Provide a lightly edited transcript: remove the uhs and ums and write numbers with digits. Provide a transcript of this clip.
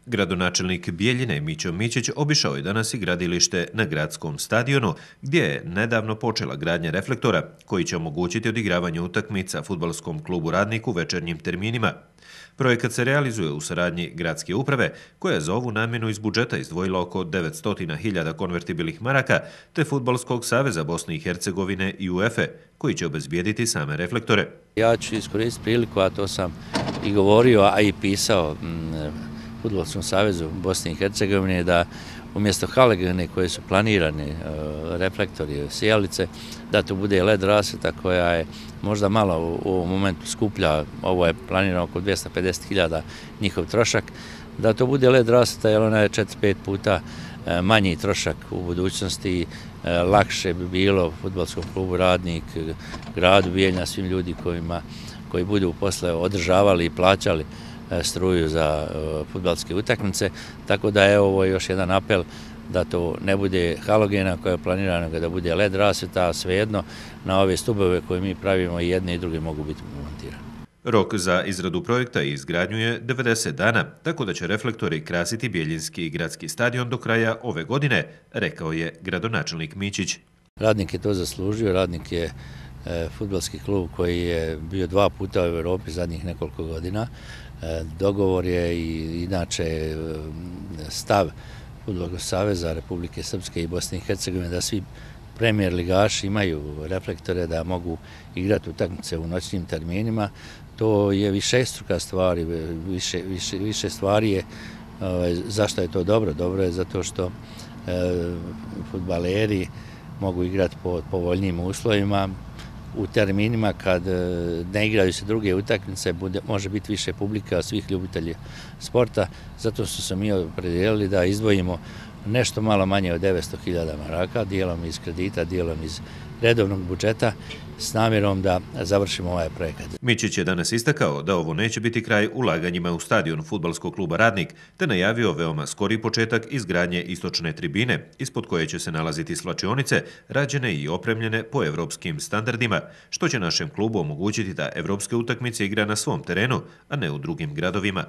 Gradonačelnik Bijeljine Mićo Mićić obišao je danas i gradilište na gradskom stadionu, gdje je nedavno počela gradnja reflektora koji će omogućiti odigravanje utakmica fudbalskom klubu Radnik u večernjim terminima. Projekat se realizuje u saradnji gradske uprave, koja je za ovu namjenu iz budžeta izdvojila oko 900.000 konvertibilnih maraka, te Fudbalskog saveza Bosne i Hercegovine i UEFA, koji će obezbijediti same reflektore. Ja ću iskoristiti priliku, a to sam i govorio, a i pisao Fudbalskom savezu Bosne i Hercegovine, da umjesto halegene koje su planirane, reflektori, sijalice, da to bude LED rasvjeta koja je možda malo u ovom momentu skuplja, ovo je planirano oko 250.000 njihov trošak, da to bude LED rasvjeta jer ona je 4-5 puta manji trošak u budućnosti, lakše bi bilo Fudbalskom klubu Radnik, gradu Bijeljina, svim ljudi koji budu posle održavali i plaćali struju za fudbalske utakmice, tako da je ovo još jedan apel da to ne bude halogena koja je planirana, nego da bude LED rasvjeta, a svejedno na ove stubove koje mi pravimo i jedne i druge mogu biti montirane. Rok za izradu projekta i izgradnju je 90 dana, tako da će reflektori krasiti Bijeljinski gradski stadion do kraja ove godine, rekao je gradonačelnik Mićić. Radnik je to zaslužio, Radnik je fudbalski klub koji je bio 2 puta u Evropi zadnjih nekoliko godina. Dogovor je i inače stav Fudbalskog saveza Republike Srpske i Bosne i Hercegovine da svi premijer ligaši imaju reflektore, da mogu igrati utakmice u noćnim terminima. To je višestruka stvar, više stvari je. Zašto je to dobro? Dobro je zato što fudbaleri mogu igrati pod povoljnijim uslovima, u terminima kad ne igraju se druge utakmice, može biti više publika, svih ljubitelji sporta. Zato su se mi opredijelili da izdvojimo nešto malo manje od 900.000 maraka, dijelom iz kredita, dijelom iz redovnog budžeta, s namjerom da završimo ovaj projekat. Mićić je danas istakao da ovo neće biti kraj ulaganjima u stadion Fudbalskog kluba Radnik, te najavio veoma skori početak izgradnje istočne tribine, ispod koje će se nalaziti svlačionice, rađene i opremljene po evropskim standardima, što će našem klubu omogućiti da evropske utakmice igra na svom terenu, a ne u drugim gradovima.